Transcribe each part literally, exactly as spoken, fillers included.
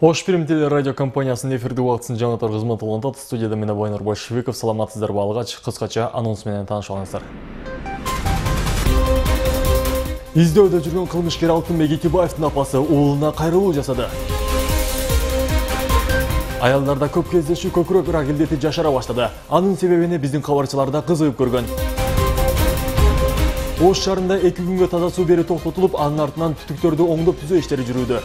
Ош Перим теле радио компаниясынын эфирде убактысын жаңыртар кызматы улантат. Студияда мен Байнур Большевиков. Саламатсыздарбы? Алгач кыскача анонс менен таанышып алыңыздар. Издөөдө жүргөн кылмышкер Алтынбек Итибаевдин апасы уулуна кайрылуу жасады. Аялдарда көп кездешүү көкүрөк рак илдети жашара баштады. Анын себебини биздин кабарчылар да кызыгып көргөн. Ош шаарында эки күнгө таза суу берүү токтотулуп, анын артынан түтүктөрдү оңдоп түзөө иштери жүрүүдө.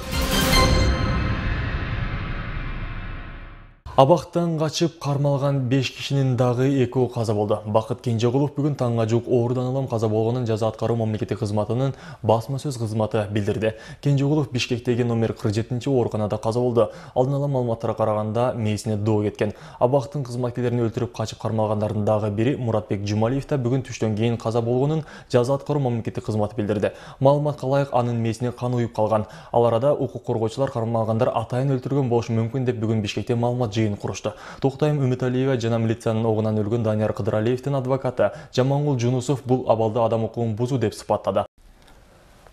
Абактан качып кармалган беш кишинин дагы экөө каза болду. Бакыт Кенжеголов бүгүн таңга жук оорудан улам каза болгонун жаза аткаруу мамлекеттик кызматынын басма сөз кызматы билдирди. Кенжеголов Бишкектеги номер кырк жетинчи ооруканада каза болду. Алдын ала маалыматтарга караганда мээсине доо кеткен. Абактын кызматкерлерин өлтүрүп качып кармалгандардын дагы бири Муратбек Жумалиев да бүгүн түштөн кийин каза болгонун жаза аткаруу мамлекеттик кызматы билдирди. Маалыматка ылайык анын мээсине кан уюп калган. Ал арада укук коргоочулар кармалгандар атайын өлтүргөн болушу мүмкүн деп бүгүн Бишкекте маалымат курушты. Токтайым Үмүталиева жана милициянын огунан өлгөн Данияр Кыдыралиевдин адвокаты Жамангул Жунусов бул абалды адам укугун бузуу деп сыпаттады.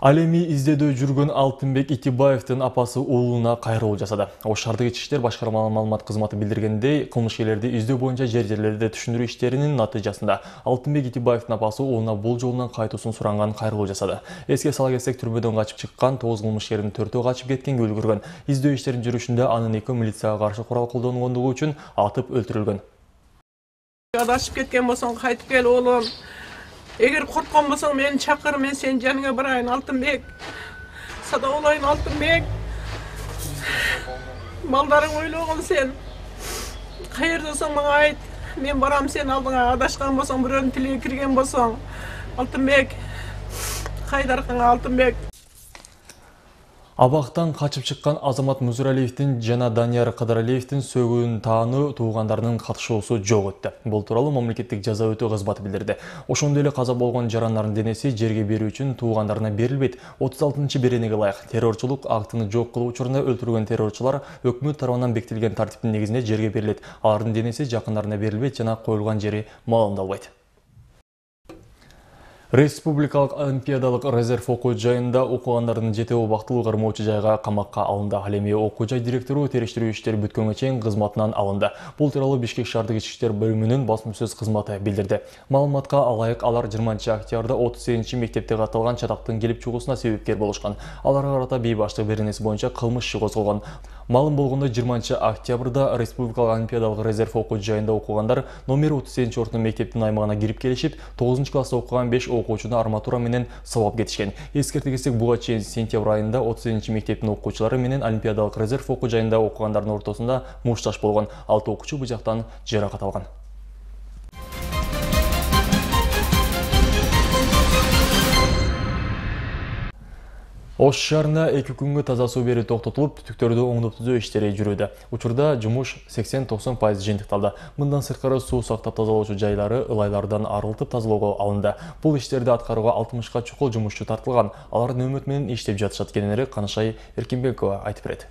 Ал эми издөөдө жүргөн Алтынбек Итибаевдин апасы уулуна кайрылуу жасады. Ош шаардык ички иштер башкармалык маалымат кызматы билдиргендей, кылмышкерлерди издөө боюнча жер-жерлерде түшүндүрүү иштеринин натыйжасында Алтынбек Итибаевдин апасы уулуна бул жолунан кайтуусун суранган кайрылуу жасады. Эске сала кетсек, түрмөдөн качып чыккан тогуз кылмышкердин төртөө качып кеткенге үлгүргөн. Издөө иштерин жүрүшүндө анын экөө милицияга каршы курал колдонгондугу үчүн атып өлтүрүлгөн. Адашып кеткен болсоң кайтып кел оолум. Эгер корккон болсоң мени чакыр, мен сенин жаныңа барайын Алтынбек. Садаболайын Алтынбек. Балдарың ойлогон сен. Каердасың мага айт. Мен барам сен алдыңа. Адашкан болсоң, бирөөнүн тилиге кирген болсоң. Алтынбек. Кайдаркыңа Алтынбек. Абактан качып чыккан Азамат Музуралиевдин жана Данияр Кыдыралиевдин сөгүүнүн таануу туугандарынын катышуусу жок өттү. Бул тууралуу мамлекеттик жаза өтөө кызматы билдирди. Ошондой эле каза болгон жарандардын денеси жерге берүү үчүн туугандарына берилбейт. отуз алтынчы беренеге ылайык террорчулук актыны жок кылуу учурунда өлтүрүлгөн террорчулар өкмөт тарабынан бекитилген тартиптин негизинде жерге берилет. Алардын денеси жакындарына берилбейт жана коюлган жери маалымдалбайт. Республикалык олимпиадалык резерв окуу жайында окугандардын жети убактылуу кармоочу жайга камакка алынды. Ал эми окуу жай директору териштирүү иштери бүткөнгө чейин кызматынан алынды. Бул тууралуу Бишкек шаардык ички иштер бөлүмүнүн басма сөз кызматы билдирди. Маалыматка алайык, алар жыйырманчы октябрда отуз сегизинчи мектепте катталган чатактын келип чыгуусуна себепкер болушкан. Аларга карата бейбаштык беренеси боюнча кылмыш иши козголгон. Маалым болгондой жыйырманчы октябрда Республикалык олимпиадалык резерв окуу жайында окугандар номер отуз сегизинчи ордун мектептин аймагына кирип келишип, тогузунчу класста окуган беш окуучуну арматура менен сабап кетишкен. Эскерте кетсек, буга чейин сентябрь айында отуз сегизинчи мектептин окуучулары менен олимпиадалык резерв окуу жайында окугандардын ортосунда мушташ болгон. алты окуучу быжактан жаракат алган. Ош шаарында эки күнгө таза суу берүү токтотулуп, түтүктөрдү оңдоп түзөө иштери жүрүүдө. Учурда жумуш сексен токсон пайыз жыйынтыкталды. Мындан сырткары суу сактап тазалоочу жайлары ылайлардан арылтып тазалоого алынды. Бул иштерди аткарууга алтымышка чукул жумушчу тартылган. Алар нөөмөт менен иштеп жатышат. Кененирээк Канышай Эркинбекова айтып берет.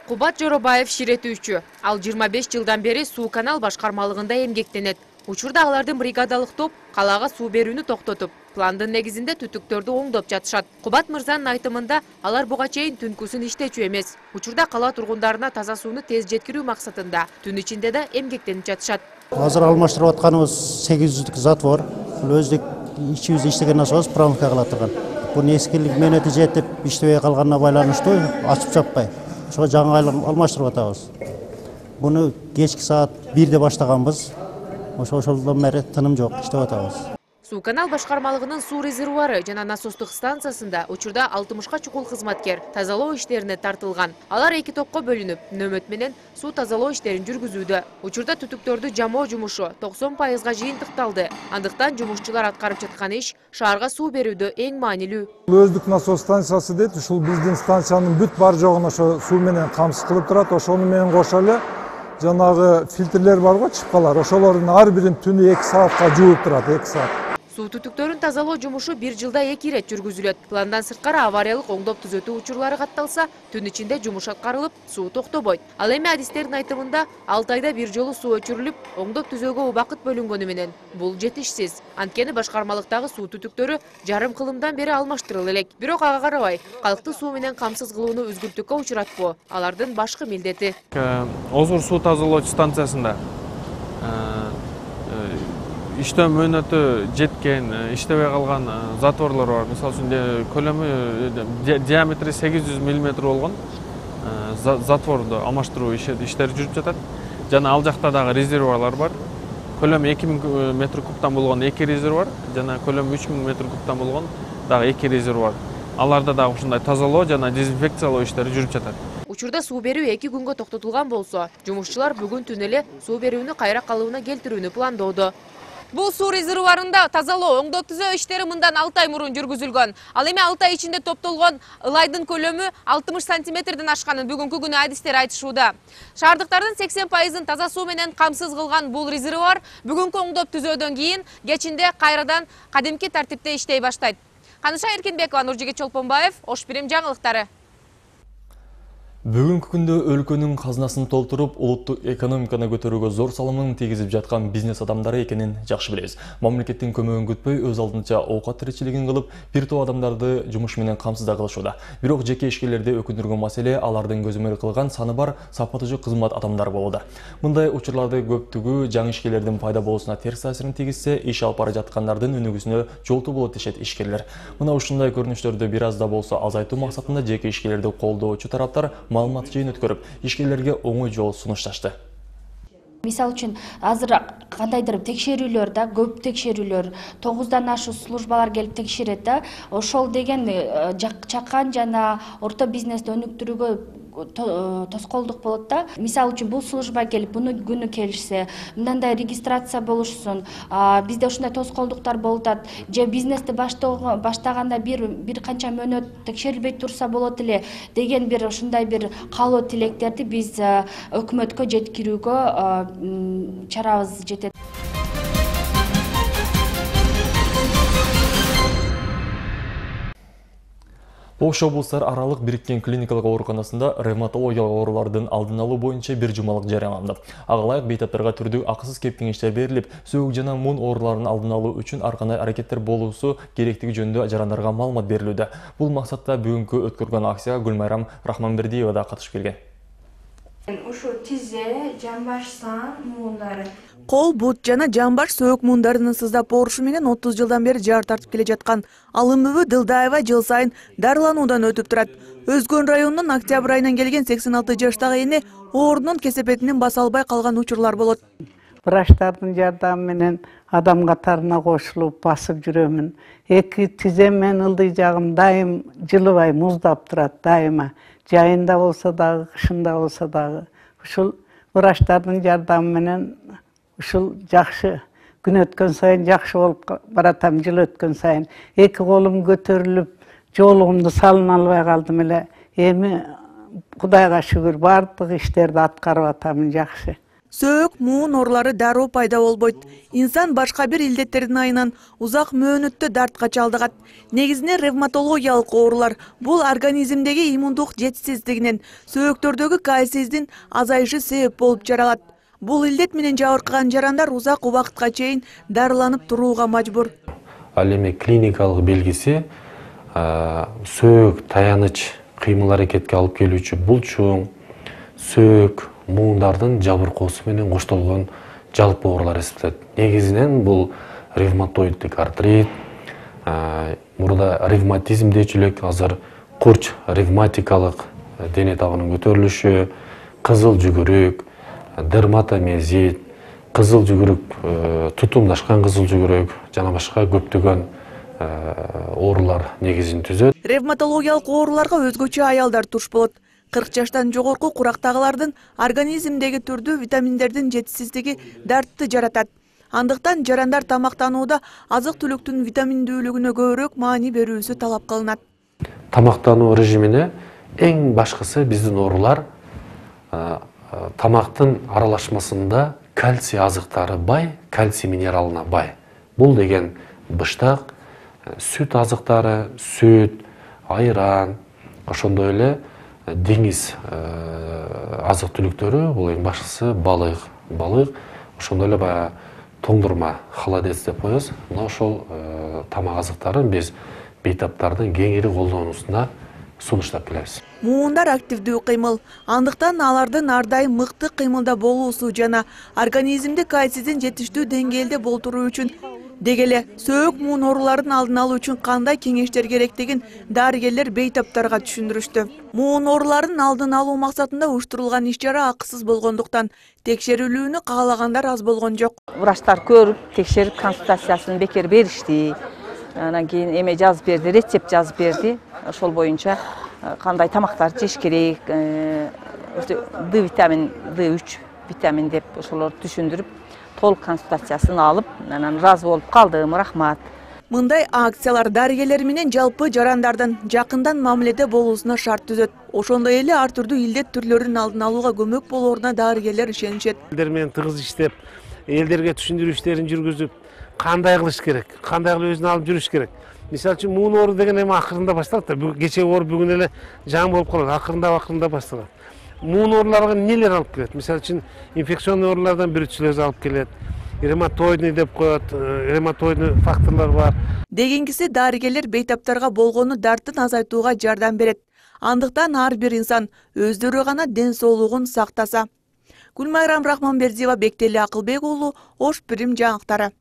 Кубат Жоробаев ширетүүчү. Ал жыйырма беш жылдан бери суу канал башкармалыгында эмгектенет. Учурда алардын бригадалык топ калаага суу берүүнү токтотуп, пландын негизинде түтүктөрдү оңдоп жатышат. Кубат мырзанын айтымында, алар буга чейин түнкүсүн иштечү эмес. Учурда кала тургундарына таза сууну тез жеткирүү максатында түн ичинде да эмгектенип жатышат. Азыр алмаштырып атканыбыз сегиз жүздүк затвор. Бул өздүк ичибизде иштеген насос промывка кыла турган. Бул эскилик менети жетип иштебей калганына байланыштуу ачып жаппай. Ошого жаңы алмаштырып атабыз. Буну кечки саат бирде баштаганбыз. Ошолдон бери тыным жок, иштеп атабыз. Суу канал башкармалыгынын суу резервуары жана насостук станциясында учурда алтымышка чукул кызматкер тазалоо иштерине тартылган. Алар эки топко бөлүнүп, нөөмөт менен суу тазалоо иштерин жүргүзүүдө. Учурда түтүктөрдү жамоо жумушу токсон пайызга жыйынтыкталды. Андыктан жумушчулар аткарып жаткан иш шаарга суу берүүдө эң маанилүү. Өздүк насос станциясы дейт, ушул биздин станциянын бүт бар жогун ошо суу менен камсыз кылып турат. Ошону менен кошо эле жанагы фильтрлер барго, чыпкалар. Ошолордун ар бирин түнү эки саатка жууп турат, эки саат. Суу түтүктөрүн тазалоо жумушу бир жылда эки ирет жүргүзүлөт. Пландан сырткары авариялык оңдоп түзөтүү учурлары катталса, түн ичинде жумуш аткарылып, суу токтобойт. Ал эми адистердин айтымында алты айда бир жолу суу өчүрүлүп, оңдоп түзөөгө убакыт бөлүнгөнү менен бул жетишсиз. Анткени башкармалыктагы суу түтүктөрү жарым кылымдан бери алмаштырыла элек. Бирок ага карабай, калкты суу менен камсыз кылууну үзгүлтүккө учуратпоо алардын башкы милдети. Озур суу тазалоочу станциясында иштөө мөөнөтү жеткен, иштебей калган затворлор бар. Мисалы үчүн көлөмү диаметри сегиз жүз миллиметр болгон затворду алмаштыруу иштери жүрүп жатат. Жана ал жакта дагы резервуарлар бар. Көлөмү эки миң метр кубтан болгон эки резервуар, жана көлөмү үч миң метр кубтан болгон дагы эки резервуар. Аларда дагы ушундай тазалоо жана дезинфекциялоо иштери жүрүп жатат. Учурда суу берүү эки күнгө токтотулган болсо, жумушчулар бүгүн түн эле суу берүүнү кайра калыбына келтирүүнү пландоодо. Бул суу резервуарында тазалоо, оңдоп түзөө иштери мындан алты ай мурун жүргүзүлгөн. Ал эми алты ай ичинде топтолгон ылайдын көлөмү алтымыш сантиметрден ашканын бүгүнкү күнү адистер айтышууда. Шаардыктардын сексен пайызын таза суу менен камсыз кылган бул резервуар бүгүнкү оңдоп түзөөдөн кийин кечинде кайрадан кадимки тартипте иштей баштайт. Каныша Эркинбекова, Нуржигит Чолпонбаев, Ош Бирим жаңылыктары. Бүгүнкү күндө өлкөнүн казынасын толтуруп, улуттук экономиканы көтөрүүгө зор салымын тийгизип жаткан бизнес адамдары экенин жакшы билебиз. Мамлекеттин көмөгүн күтпөй, өз алдынча оокат тиричилигин кылып, бир топ адамдарды жумуш менен камсызда кылышууда. Бирок жеке ишкерлерди өкүндүргөн маселе алардын көзөмөл кылган саны бар сапаттуу кызмат адамдары болууда. Мындай учурларды көптүгү жаңы ишкерлердин пайда болуусуна терс таасирин тийгизсе, иш алып бара жаткандардын өнүгүүсүнө жолтуу болот дешет ишкерлер. Мына ушундай көрүнүштөрдү бир аз да болсо азайтуу максатында жеке ишкерлерди колдоочу тараптар маалымат жыйын өткөрүп, ишкерлерге оңой жол сунушташты. Мисал үчүн азыр кандайдыр текшерүүлөр да, көп текшерүүлөр, тогуздан ашуу службалар келип текшерет да. Ошол деген чакан жана орто бизнести өнүктүрүүгө тоскоолдук болот да. Мисал үчүн бул служба келип, буну күнү келишсе, мындай регистрация болушсун, бизде ушундай тоскоолдуктар болуп атат. Же бизнести баштаганда бир бир канча мөөнөт текшерилбей турса болот эле деген бир ушундай бир каалоо тилектерди биз өкмөткө жеткирүүгө чарабыз жетет. Ош облустар аралык бириккен клиникалык ооруканасында ревматологиялык оорулардын алдын алуу боюнча бир жумалык жарыяланды. Ага ылайык бейтаптарга түрдүү акысыз кеп кеңештер берилип, сөөк жана муун ооруларын алдын алуу үчүн ар кандай аракеттер болуусу керектиги жөнүндө жарандарга маалымат берилүүдө. Бул максатта бүгүнкү өткөрүлгөн акцияга Гүлмайрам Рахманбердиева да катышып келген. Ушу тизе, жамбаш сан муундары. Кол, бут жана жамбаш сөөк муундарынын сыздап оорушу менен отуз жылдан бери жар тартып келе жаткан Алымбүбү Дылдаева жыл сайын дарылануудан өтүп турат. Өзгөн районунун Октябрь айынан келген сексен алты жаштагы эне оорунун кесепетинен баса албай калган учурлар болот. Врачтардын жардамы менен адам катарына кошулуп басып жүрөмүн. Эки тизем менен ылдый жагым дайым жылыбай муздап турат дайыма. Жайында болсо дагы, кышында болсо дагы. Ушул врачтардын жардамы менен ушул жакшы күн өткөн сайын жакшы болуп баратам, жыл өткөн сайын. Эки колум көтөрүлүп, жоолугумду салына албай калдым эле. Эми Кудайга шүгүр бардык иштерди аткарып атамын жакшы. Сөөк, муун оорулары дароо пайда болбойт. Инсан башка бир илдеттердин айынан узак мөөнөттө дартка чалдыгат. Негизинен ревматологиялык оорулар бул организмдеги иммундук жетишсиздигинен, сөөктөрдөгү кальцийдин азайышы себеп болуп жаралат. Бул илдет менен жабыркаган жарандар узак убакытка чейин дарыланып турууга мажбур. Ал эми клиникалык белгиси сөөк таяныч кыймыл аракетке алып келүүчү булчуң, сөөк, муундардын жабыркоосу менен коштолгон жалпы оорулар эсептелет. Негизинен бул ревматоиддик артрит, мурда ревматизм дейчү элек, азыр курч ревматикалык дене табынын көтөрүлүшү, кызыл жүгүрүк, дерматомиозит, кызыл жүгүрүк, тутумдашкан кызыл жүгүрүк жана башка көптөгөн оорулар негизин түзөт. Ревматологиялык ооруларга өзгөчө аялдар туш болот. кырк жаштан жогорку курактагылардын организмдеги түрдүү витаминдердин жетишсиздиги дартты жаратат. Андыктан жарандар тамактанууда азык-түлүктүн витаминдүүлүгүнө көбүрөөк маани берүүсү талап кылынат. Тамактануу режимине эң башкысы биздин оорулар тамактын аралашмасында кальций азыктары бай, кальций минералына бай. Бул деген быштак, сүт азыктары, сүт, айран, ошондой эле деңиз азык түлүктөрү, бул эң башкысы балык, балык, ошондой эле баягы тоңдурма, холодец деп коебуз. Мына ошол тамак азыктарын биз бейтаптардын кеңири колдонуусуна сунуштап келебиз. Муундар активдүү кыймыл, андыктан алардын ар дайым мыкты кыймылда болуусу жана организмде кальцийдин жетиштүү деңгээлде болтуруу үчүн деги эле сөөк муун ооруларын алдын алуу үчүн кандай кеңештер керектигин дарыгерлер бейтаптарга түшүндүрүштү. Муун ооруларын алдын алуу максатында уюштурулган иш-чара акысыз болгондуктан текшерилүүнү каалагандар аз болгон жок. Врачтар көрүп, текшерип, консультациясын бекер беришти. Анан кийин эме жазып берди, рецепт жазып берди. Ошол боюнча кандай тамактарды жеш керек, Д витамин, Д үч витамин деп ошолорду түшүндүрүп, толук консультациясын алып, анан ыраазы болуп калдым. Рахмат. Мындай акциялар дарыгерлер менен жалпы жарандардын жакындан мамиледе болуусуна шарт түзөт. Ошондой эле ар түрдүү илдет түрлөрүнүн алдын алууга көмөк болооруна дарыгерлер ишенишет. Элдер менен тыгыз иштеп, элдерге түшүндүрүү иштерин жүргүзүп, кандай кылыш керек, кандай кылып өзүн алып жүрүш керек. Мисалы үчүн муун оору деген эми акырында башталат да. Кече оор бүгүн эле жаңы болуп калат, акырында акырында башталат. Муун ооруларга нелер алып келет? Мисалы үчүн инфекционный оорулардан бирүчүлөз алып келет. Ревматоидный деп коет, ревматоидный факторлор бар. Дегенгиси дарыгерлер бейтаптарга болгону дарттын азайтууга жардам берет. Андыктан ар бир инсан өздөрү гана ден соолугун сактаса. Гүлмайрам Рахманбердиева, Бектели Акылбек уулу, Ош Пирим жаңылыктары.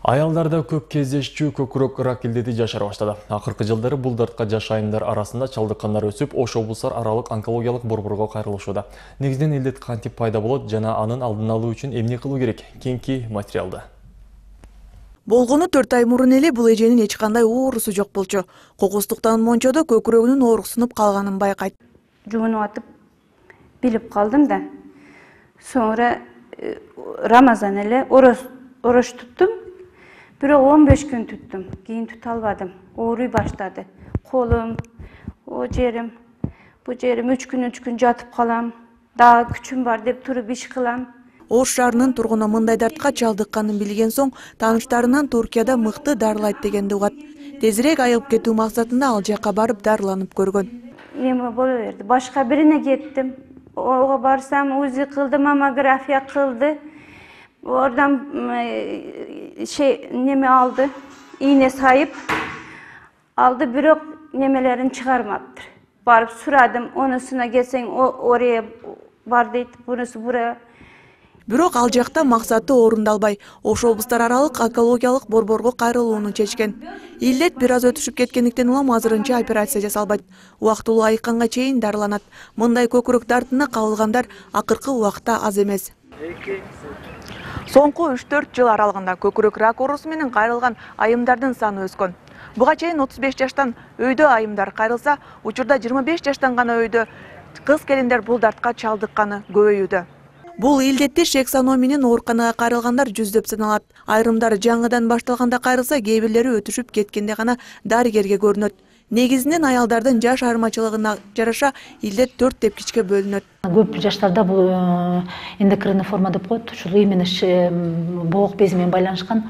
Аялдарда көп кездешчү көкүрөк рак илдети жашара баштады. Акыркы жылдары бул дартка жаш айымдар арасында чалдыккандар өсүп, Ош облустар аралык онкологиялык борборго кайрылышууда. Негизинен илдет кантип пайда болот жана анын алдын алуу үчүн эмне кылуу керек? Кеңки материалда. Болгону төрт ай мурун эле бул эженин эч кандай оорусу жок болчу. Кокустуктан мончодо көкүрөгүнүн ооруксунуп калганын байкайт. Жуунуп атып билип калдым да. Sonra Рамазан эле орош туттум. Бирок он беш күн туттум. Кийин тута албадым. Ооруй баштады. Колум, о жерим, бу жерим үч күн үч күн жатып калам. Дагы күчүм бар деп туруп иш кылам. Ош шаарынын тургуну мындай дартка чалдыкканын билген соң тааныштарынан Туркияда мыкты дарылайт дегенди угат. Тезирээк айыгып кетүү максатында ал жака барып дарыланып көргөн. Эме боло берди. Башка бирине кеттим. Ого барсам УЗИ кылды, маммография кылды. Oradan şey neme aldı, iğne sayıp aldı, bürok nemelerini çıkarmaktır. Barıp suradım, onusuna gelsen o oraya var deydi, bunusu buraya. Бирок ал жакта максаты орундалбай, Ош облустар аралык онкологиялык борборго кайрылууну чечкен. Илдет бир аз өтүшүп кеткендиктен улам азырынча операция жасалбайт. Убактылуу айыкканга чейин дарыланат. Мындай көкүрөк дартына кабылгандар акыркы убакта аз эмес. Соңку үч төрт жыл аралыгында көкүрөк рак оорусу менен кайрылган айымдардын саны өскөн. Буга чейин отуз беш жаштан өйдө айымдар кайрылса, учурда жыйырма беш жаштан гана өйдө кыз келиндер бул дартка чалдыкканы көбөйүүдө. Бул илдетти шексано менен ооруканага кайрылгандар жүздөп саналат. Айрымдар жаңыдан башталганда кайрылса, кээ бирлери өтүшүп кеткенде гана дарыгерге көрүнөт. Негизинен аялдардын жаш айырмачылыгына жараша илдет төрт тепкичке бөлүнөт. Көп жаштарда бул эндокринный форма деп коет, ушул именно боок бези менен байланышкан.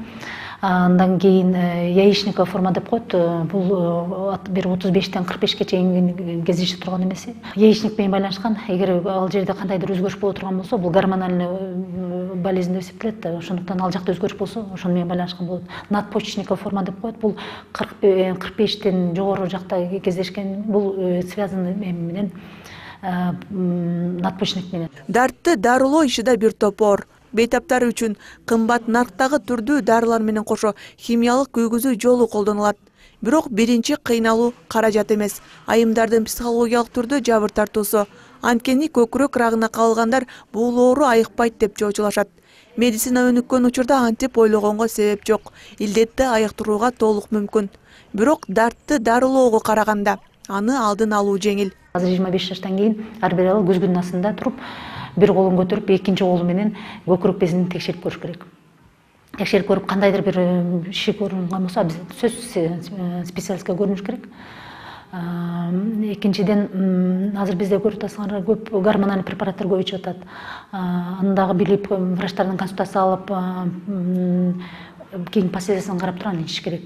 Андан кийин яичниковый форма деп коет, бул бир отуз бештен кырк бешке чейин кездеше турган эмеси. Яичник менен байланышкан. Эгер ал жерде кандайдыр өзгөрүш боло турган болсо, бул гормональный болезнь деп эсептелет. Ошондуктан ал жакта өзгөрүш болсо, ошону менен байланышкан болот. Надпочечниковый форма деп коет, бул кырк бештен жогору жакта кездешкен. Бул связаны менен надпочечник менен. Дартты дарылоо иши да бир топ оор. Бейтаптар үчүн кымбат нарктагы түрдүү дарылар менен кошо химиялык күйгүзүү жолу колдонулат. Бирок биринчи кыйналуу каражат эмес, айымдардын психологиялык түрдө жабыр тартуусу. Анткени көкүрөк рагына кабылгандар бул оору айыкпайт деп чоочулашат. Медицина өнүккөн учурда антип ойлогонго себеп жок. Илдетти айыктырууга толук мүмкүн. Бирок дартты дарылоого караганда аны алдын алуу жеңил. Азыр жыйырма беш жаштан кийин ар бир ayol көзгүнүн астында туруп, бир колун көтөрүп, экинчи колу менен көкүрөк безин текшерип көрүш керек. Текшерип көрүп, кандайдыр бир иши көрүнгөн болсо, биз сөзсүз специалистке көрүнүш керек. Экинчиден, азыр бизде көрүп атасыңар, көп гормоналдуу препараттар көп ичип атат. Аны дагы билип, врачтардан консультация алып, кийинки последствиясын карап туруп аны ичиш керек.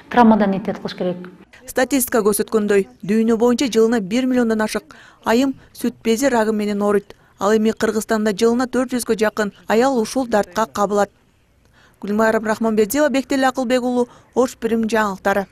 Травмадан этият кылыш керек. Статистика көрсөткөндөй, дүйнө боюнча жылына бир миллиондон ашык айым сүт бези рагы менен ооруйт. Ал эми Кыргызстанда жылына төрт жүзгө жакын аял ушул дартка кабылат. Гүлмайра Рахманбердиева, Бектели Акылбек уулу, Ош Бирим жаңылыктары.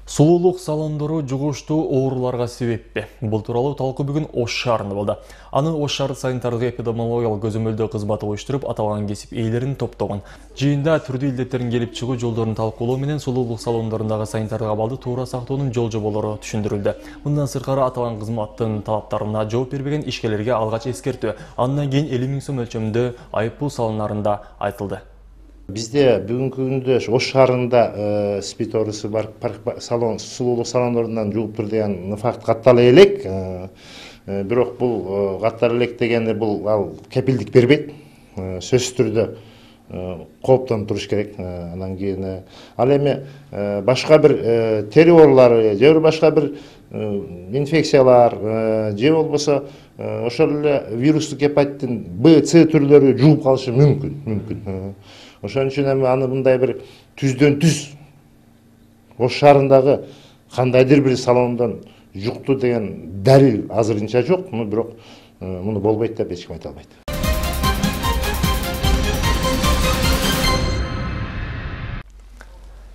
Сулуулук салондору жугуштуу ооруларга себеппи? Бул тууралуу талкуу бүгүн Ош шаарында болду. Аны Ош шаардык санитардык эпидемиологиялык көзөмөлдөө кызматы уюштуруп, аталган кесип ээлерин топтогон. Жыйында түрдүү илдеттердин келип чыгуу жолдорун талкуулоо менен сулуулук салондорундагы санитардык абалды туура сактоонун жол жоболору түшүндүрүлдү. Мындан сыркары аталган кызматтын талаптарына жооп бербеген ишкерлерге алгач эскертүү, андан кийин элүү миң сом өлчөмүндө айыппул салынарында айтылды. Бизде бүгүнкү күндө Ош шаарында спид оорусу бар салон сулуулук салондорунан жууп тур деген факт каттала элек. Бирок бул каттала элек дегенде бул ал кепилдик бербейт. Сөзсүз түрдө кооптонуп туруш керек. Анан кийин ал эми башка бир тери оорулары же башка бир инфекциялар же болбосо ошол эле вирустук гепатиттин Б, С түрлөрү жууп калышы мүмкүн, мүмкүн. Ошон үчүн эми аны мындай бир түздөн түз Ош шаарындагы кандайдыр бир салондон жукту деген далил азырынча жок, бирок муну болбойт деп эч ким айта албайт.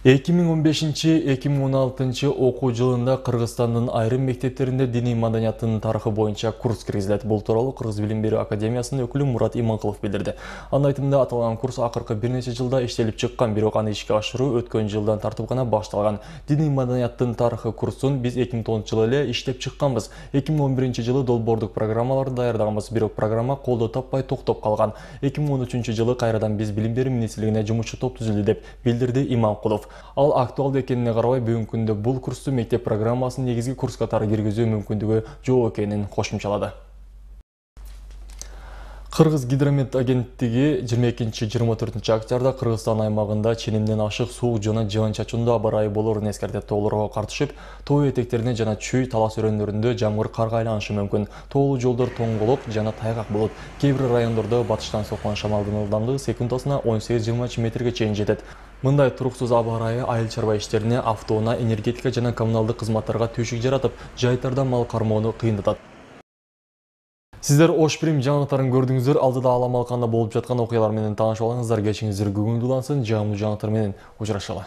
эки миң он бешинчи — эки миң он алтынчы окуу жылында Кыргызстандын айрым мектептеринде диний маданияттын тарыхы боюнча курс киргизилет. Бул тууралуу Кыргыз билим берүү академиясынын өкүлү Мурат Иманкулов билдирди. Анын айтымында аталган курс акыркы бир нече жылда иштелип чыккан, бирок аны ишке ашыруу өткөн жылдан тартып гана башталган. Диний маданияттын тарыхы курсун биз эки миң тогузунчу жылы эле иштеп чыкканбыз. эки миң он биринчи жылы долбоордук программаларды даярдаганбыз, бирок программа колдоо таппай токтоп калган. эки миң он үчүнчү жылы кайрадан биз билим берүү министрлигине жумушчу топ түзүлдү деп билдирди Иманкулов. Ал актуалдуу экенине карабай, бүгүнкү күндө бул курсту мектеп программасынын негизги курс катары киргизүү мүмкүндүгү жок экенин кошумчалады. Кыргыз гидромет агенттиги жыйырма экинчи — жыйырма төртүнчү октябрда Кыргызстан аймагында ченемден ашык суук жана жыгын-чачындуу аба ырайы болоорун эскертет. Тоолорго картышып, тоо этектерине жана чүй талас өрөөнлөрүндө жамгыр карга айланышы мүмкүн. Тоолуу жолдор тоңголок жана тайгак болот. Кээ бир райондордо батыштан соккон шамалдын ылдамдыгы секундасына он сегиз — жыйырма үч метрге чейин жетет. Мындай туруксуз аба ырайы айыл чарба иштерине, автоунаа, энергетика жана коммуналдык кызматтарга түйшүк жаратып, жайтарда мал кармоону кыйындатат. Сиздер Ош Бирим жаңылыктарын көрдүңүздөр. Алдыда Алам Алканда болуп жаткан окуялар менен таанышып алыңыздар. Кечиңиздер күгүндүүлансын. Жамуу жаңылыктар менен учурашалы.